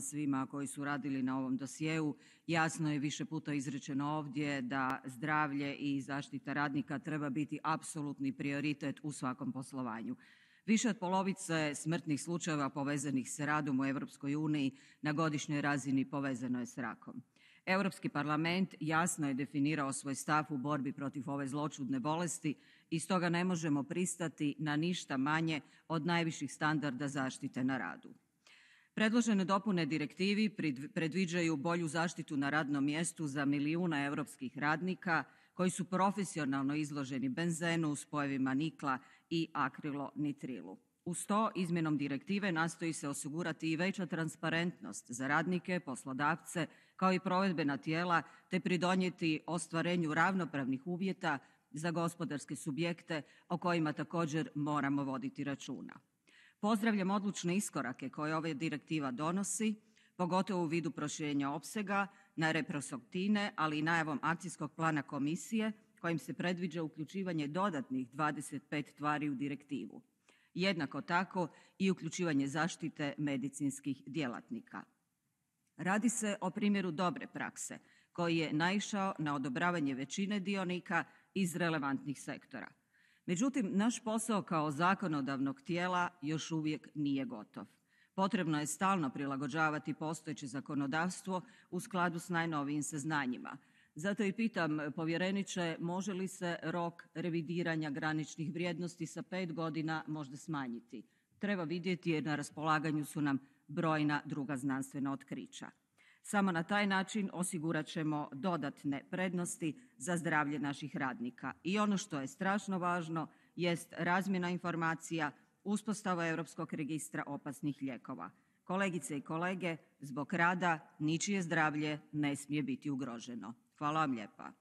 svima koji su radili na ovom dosjeu. Jasno je više puta izrečeno ovdje da zdravlje i zaštita radnika treba biti apsolutni prioritet u svakom poslovanju. Više od polovice smrtnih slučajeva povezanih s radom u Europskoj uniji na godišnjoj razini povezano je s rakom. Europski parlament jasno je definirao svoj stav u borbi protiv ove zloćudne bolesti i stoga ne možemo pristati na ništa manje od najviših standarda zaštite na radu. Predložene dopune direktivi predviđaju bolju zaštitu na radnom mjestu za milijune europskih radnika koji su profesionalno izloženi benzenu, spojevima nikla i akrilonitrilu. Uz to, izmjenom direktive nastoji se osigurati i veća transparentnost za radnike, poslodavce, kao i provedbena tijela, te pridonijeti ostvarenju ravnopravnih uvjeta za gospodarske subjekte o kojima također moramo voditi računa. Pozdravljam odlučne iskorake koje ova direktiva donosi, pogotovo u vidu proširenja opsega na reprosoktine, ali i najavom akcijskog plana komisije kojim se predviđa uključivanje dodatnih 25 tvari u direktivu. Jednako tako i uključivanje zaštite medicinskih djelatnika. Radi se o primjeru dobre prakse koji je naišao na odobravanje većine dionika iz relevantnih sektora. Međutim, naš posao kao zakonodavnog tijela još uvijek nije gotov. Potrebno je stalno prilagođavati postojeće zakonodavstvo u skladu s najnovijim saznanjima. Zato i pitam, povjereniče, može li se rok revidiranja graničnih vrijednosti sa 5 godina možda smanjiti? Treba vidjeti jer na raspolaganju su nam brojna druga znanstvena otkrića. Samo na taj način osigurat ćemo dodatne prednosti za zdravlje naših radnika. I ono što je strašno važno jest razmjena informacija, uspostava Europskog registra opasnih lijekova. Kolegice i kolege, zbog rada ničije zdravlje ne smije biti ugroženo. Hvala vam lijepa.